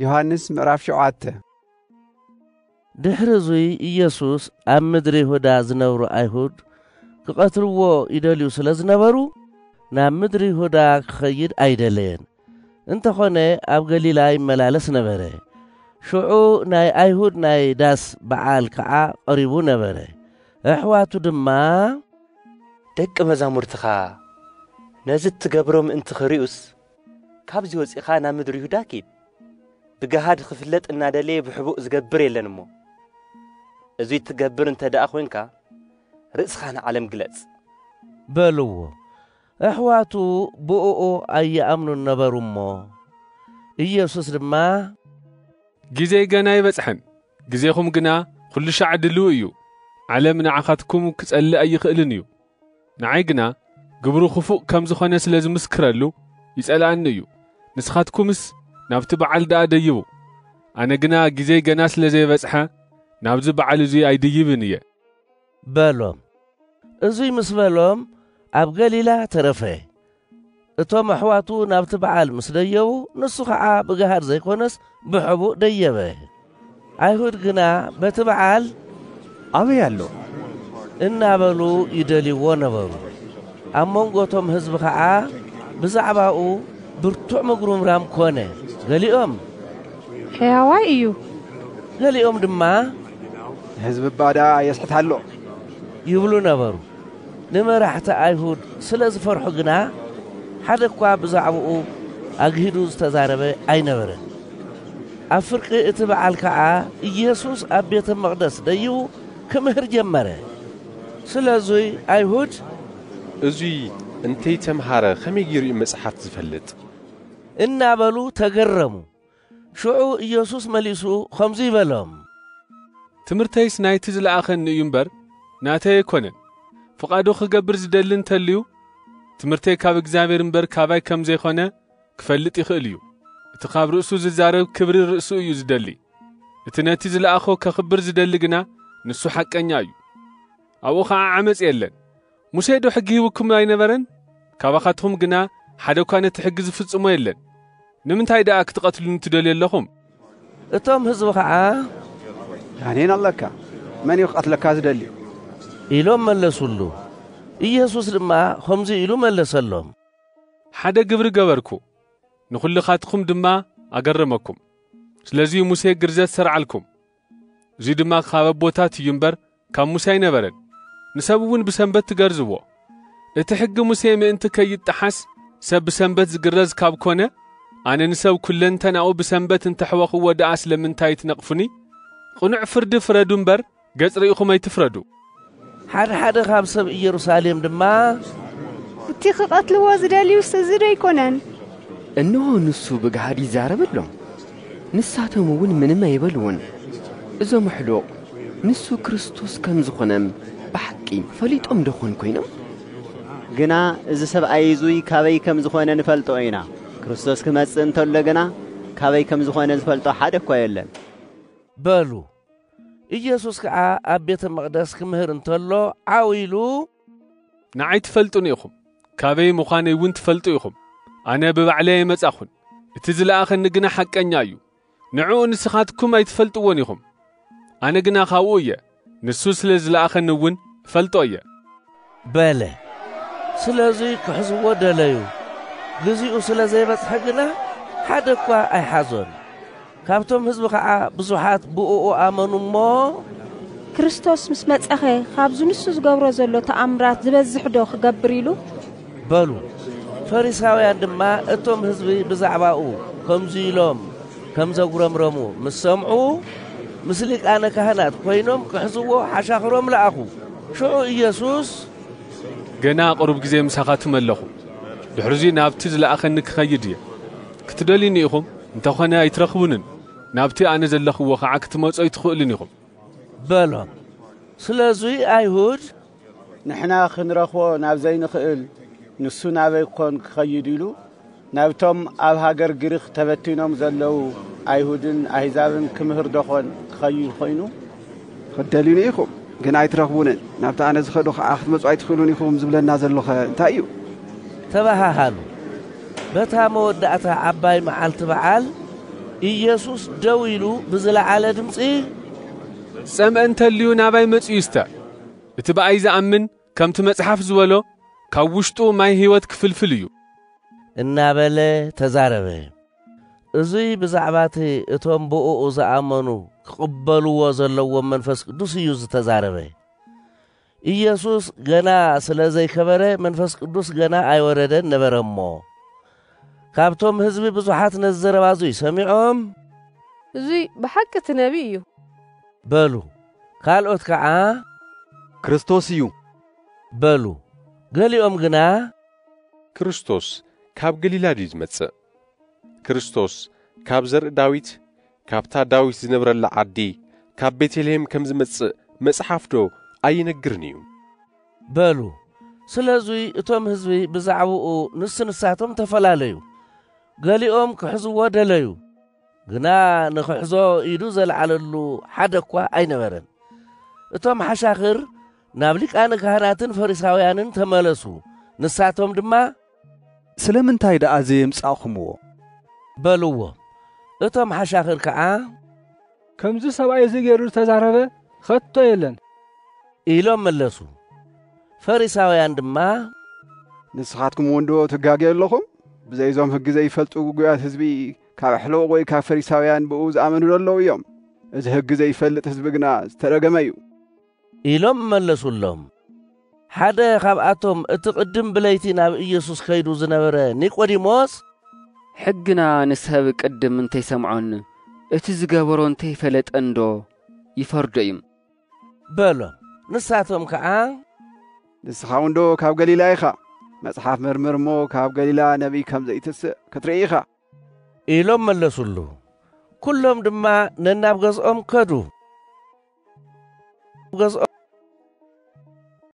ዮሃንስ ምዕራፍ ሸውዓተ። ድሕሪ እዙይ ኢየሱስ ኣብ ምድሪ ይሁዳ ዝነብሩ ኣይሁድ ክቐትልዎ ይደልዩ ስለ ዝነበሩ፣ ናብ ምድሪ ይሁዳ ክኸይድ ኣይደለየን። እንተኾነ ኣብ ገሊላ ይመላለስ ነበረ። ሽዑ ናይ ኣይሁድ ናይ ዳስ በዓል ከዓ ቀሪቡ ነበረ። ኣሕዋቱ ድማ፣ ደቂ መዛሙርትኻ ነዚ እትገብሮ ምእንቲ ኽርእዩስ፣ ካብዚ ወጺኻ ናብ ምድሪ ይሁዳ ኪድ። ብገሃድ ክፍለጥ እናደለየ ብሕቡእ ዝገብር የለን እሞ፣ እዙይ እትገብር እንተ ደኣ ኾይንካ፣ ርእስኻ ንዓለም ግለጽ። በልዎ። ኣሕዋቱ ብእኡ ኣይኣምኑን ነበሩ እሞ፣ ኢየሱስ ድማ፣ ግዜይ ገና ኣይበጽሐን፣ ግዜኹም ግና ኹሉ ሻዕ ድልው እዩ። ዓለም ንዓኻትኩም ክጸልእ ኣይኽእልን እዩ። ንዓይ ግና ግብሩ ኽፉእ ከም ዝኾነ ስለ ዝምስክረሉ ይጸልኣኒ እዩ። ንስኻትኩምስ ናብቲ በዓል ደኣ ደይቡ። ኣነ ግና ግዜይ ገና ስለ ዘይበጽሐ ናብዚ በዓል እዙይ ኣይድይብን እየ። በሎም። እዙይ ምስ በሎም ኣብ ገሊላ ተረፈ። እቶም ኣሕዋቱ ናብቲ በዓል ምስ ደየቡ፣ ንሱ ኸዓ ብገሃድ ዘይኮነስ ብሕቡእ ደየበ። ኣይሁድ ግና በቲ በዓል ኣበይ ኣሎ? እናበሉ ይደልይዎ ነበሩ። ኣብ መንጎ እቶም ህዝቢ ኸዓ ብዛዕባኡ ብርቱዕ ምጉርምራም ኮነ። ገሊኦም ሕያዋይ እዩ። ገሊኦም ድማ ህዝቢ እባ ደኣ የስሕት ኣሎ። ይብሉ ነበሩ። ንመራሕቲ ኣይሁድ ስለ ዝፈርሑ ግና፣ ሓደ እኳ ብዛዕባኡ ኣግሂዱ ዝተዛረበ ኣይነበረን። ኣብ ፍርቂ እቲ በዓል ከኣ ኢየሱስ ኣብ ቤተ መቕደስ ደይቡ ክምህር ጀመረ። ስለዙይ ኣይሁድ፣ እዙይ እንተይተምሃረ ከመይ ገይሩ እዩ መጽሓፍ ዝፈልጥ? እናበሉ ተገረሙ። ሽዑ ኢየሱስ መሊሱ ኸምዙይ በሎም። ትምህርተይስ ናይቲ ዝለኣኸኒ እዩ እምበር፣ ናተይ ኣይኮነን። ፍቓዱ ኽገብር ዝደሊ እንተልዩ፣ ትምህርተይ ካብ እግዚኣብሔር እምበር ካባይ ከም ዘይኮነ ክፈልጥ ይኽእል እዩ። እቲ ካብ ርእሱ ዝዛረብ ክብሪ ርእሱ እዩ ዝደሊ። እቲ ነቲ ዝለኣኾ ከኽብር ዝደሊ ግና ንሱ ሓቀኛ እዩ። ኣብኡ ኸዓ ዓመፅ የለን። ሙሴ ዶ ሕጊ ሂቡኩም ኣይነበረን? ካባኻትኹም ግና ሓደ እኳ ነቲ ሕጊ ዝፍጽሞ የለን። ንምንታይ ደኣ ክትቐትሉኒ ትደልዩ ኣለኹም? እቶም ህዝቢ ኸዓ፣ ጋኔን ኣለካ፣ መን እዩ ክቐትለካ ዝደሊ? ኢሎም መለሱሉ። ኢየሱስ ድማ ኸምዚ ኢሉ መለሰሎም። ሓደ ግብሪ ገበርኩ፣ ንኹልኻትኩም ድማ ኣገረመኩም። ስለዚ ሙሴ ግርዘት ሰርዓልኩም። እዙይ ድማ ካብ ኣቦታት እዩ እምበር ካብ ሙሴ ኣይነበረን። ንሰብ እውን ብሰንበት ትገርዝዎ። እቲ ሕጊ ሙሴ ምእንቲ ከይጠሓስ ሰብ ብሰንበት ዝግረዝ ካብ ኮነ፣ ኣነ ንሰብ ኩለንተናኡ ብሰንበት እንተሕወኽዎ ደኣ ስለምንታይ ትነቕፉኒ? ቅኑዕ ፍርዲ ፍረዱ እምበር ገጽ ርኢኹም ኣይትፍረዱ። ሓደ ሓደ ካብ ሰብ ኢየሩሳሌም ድማ፣ እቲ ክቐትልዎ ዝደልዩስ እዚ ዶ ኣይኮነን? እንሆ ንሱ ብግሃድ ይዛረብ ኣሎ። ንሳቶም እውን ምንም ኣይበልዎን። እዞም ኣሕሉቕ ንሱ ክርስቶስ ከም ዝኾነ ብሓቂ ፈሊጦም ዶ ኾን ኮይኖም? ግና እዚ ሰብኣይ እዙይ ካበይ ከም ዝኾነ ንፈልጦ ኢና። ክርስቶስ ክመጽእ እንተሎ ግና ካበይ ከም ዝኾነ ዝፈልጦ ሓደ እኳ የለን። በሉ። ኢየሱስ ከዓ ኣብ ቤተ መቕደስ ክምህር እንተሎ ዓው ኢሉ፣ ንዓይ ትፈልጡኒ ኢኹም፣ ካበይ ምዃነይ እውን ትፈልጡ ኢኹም። ኣነ ብባዕለይ ኣይመጻኹን፣ እቲ ዝለኣኸኒ ግና ሓቀኛ እዩ። ንዕኡ ንስኻትኩም ኣይትፈልጥዎን ኢኹም፣ ኣነ ግና ካብኡ እየ። ንሱ ስለ ዝለኣኸኒ እውን እፈልጦ እየ። በለ። ስለዙይ ክሕዝዎ ደለዩ። ግዚኡ ስለ ዘይበጽሐ ግና ሓደ እኳ ኣይሓዞን። ካብቶም ህዝቢ ኸዓ ብዙሓት ብእኡ ኣመኑ እሞ፣ ክርስቶስ ምስ መጸኸ ካብዚ ንሱ ዝገብሮ ዘሎ ተኣምራት ዝበዝሕ ዶ ክገብር ኢሉ? በሉ። ፈሪሳውያን ድማ እቶም ህዝቢ ብዛዕባኡ ከምዚ ኢሎም ከም ዘጉረምረሙ ምስ ሰምዑ፣ ምስ ሊቃነ ካህናት ኮይኖም ክሕዝዎ ሓሻኽሮም ለኣኹ። ሽዑ ኢየሱስ፣ ገና ቁሩብ ግዜ ምሳኻትኩም ኣለኹ፣ ድሕሪዙይ ናብቲ ዝለኣኸኒ ክኸይድ እየ። ክትደልዩኒ ኢኹም፣ እንተኾነ ኣይትረኽቡንን፣ ናብቲ ኣነ ዘለኽዎ ኸዓ ክትመጹ ኣይትኽእሉን ኢኹም። በሎም። ስለዙይ ኣይሁድ፣ ንሕና ኽንረኽቦ ናብ ዘይንኽእል፣ ንሱ ናበይ ኮን ክኸይድ ኢሉ፣ ናብቶም ኣብ ሃገር ግሪኽ ተበቲኖም ዘለዉ ኣይሁድን ኣህዛብን ክምህር ዶ ኾን ክኸይድ ኾይኑ? ክትደልዩኒ ኢኹም፣ ግን ኣይትረኽቡንን፣ ናብቲ ኣነ ዝኸዶ ኸዓ ክትመጹ ኣይትኽእሉን ኢኹም ዝብለና ዘሎኸ እንታይ እዩ? ተባሃሃሉ። በታ መወዳእታ ዓባይ መዓልቲ በዓል፣ ኢየሱስ ደው ኢሉ ብዝለዓለ ድምፂ፣ ጸምአ እንተልዩ ናባይ መጺኡ ይስተ። እቲ ብኣይ ዝኣምን ከምቲ መጽሓፍ ዝበሎ ካብ ውሽጡ ማይ ህይወት ክፍልፍል እዩ። እናበለ ተዛረበ። እዙይ ብዛዕባ እቲ እቶም ብእኡ ዝኣመኑ ክቕበልዎ ዘለዎም መንፈስ ቅዱስ እዩ ዝተዛረበ። ኢየሱስ ገና ስለ ዘይከበረ መንፈስ ቅዱስ ገና ኣይወረደን ነበረ እሞ፣ ካብቶም ህዝቢ ብዙሓት ነዚ ዘረባ እዙይ ሰሚዖም፣ "እዙይ ብሓቂ እቲ ነቢይ እዩ" በሉ። ካልኦት ከዓ፣ "ክርስቶስ እዩ" በሉ። ገሊኦም ግና፣ "ክርስቶስ ካብ ገሊላ ድዩ ዝመጽእ? ክርስቶስ ካብ ዘርኢ ዳዊት፣ ካብታ ዳዊት ዝነብረላ ዓዲ፣ ካብ ቤተልሔም ከም ዝመጽእ መጽሓፍዶ ኣይነግርን እዩ?" በሉ። ስለዙይ እቶም ህዝቢ ብዛዕባኡ ንስ ንሳቶም ተፈላለዩ። ገሊኦም ክሕዝዎ ደለዩ፣ ግና ንኽሕዞ ኢዱ ዘልዓለሉ ሓደ እኳ ኣይነበረን። እቶም ሓሻኽር ናብ ሊቃነ ካህናትን ፈሪሳውያንን ተመለሱ። ንሳቶም ድማ፣ "ስለምንታይ ደኣ ዘየምጻእኹምዎ?" በልዎ። እቶም ሓሻኽር ከዓ፣ "ከምዚ ሰብኣይ እዚ ገይሩ ዝተዛረበ ኸቶ የለን" ኢሎም መለሱ። ፈሪሳውያን ድማ፣ "ንስኻትኩም እውን ዶ ትጋገዩ ኣለኹም? ብዘይ እዞም ህጊ ዘይፈልጡ ግጉያት ህዝቢ ካብ ኣሕለቕ ወይ ካብ ፈሪሳውያን ብኡ ዝኣመኑ ዶ ኣለዉ እዮም? እዚ ህጊ ዘይፈልጥ ህዝቢ ግና ዝተረገመ እዩ" ኢሎም መለሱሎም። ሓደ ካብኣቶም እቲ ቅድም ብለይቲ ናብ ኢየሱስ ከይዱ ዝነበረ ኒቆዲሞስ፣ "ሕግና ንሰብ ቅድም እንተይሰምዖን እቲ ዝገበሮ እንተይፈለጠን ዶ ይፈርዶ እዩ?" በሎም። ንሳቶም ከዓ፣ "ንስኻ እውን ዶ ካብ ገሊላ ኢኻ? መጽሓፍ መርምር እሞ ካብ ገሊላ ነቢይ ከም ዘይትስእ ክትርኢ ኢኻ" ኢሎም መለሱሉ። ኩሎም ድማ ነናብ ገዝኦም ከዱ። ገዝኦም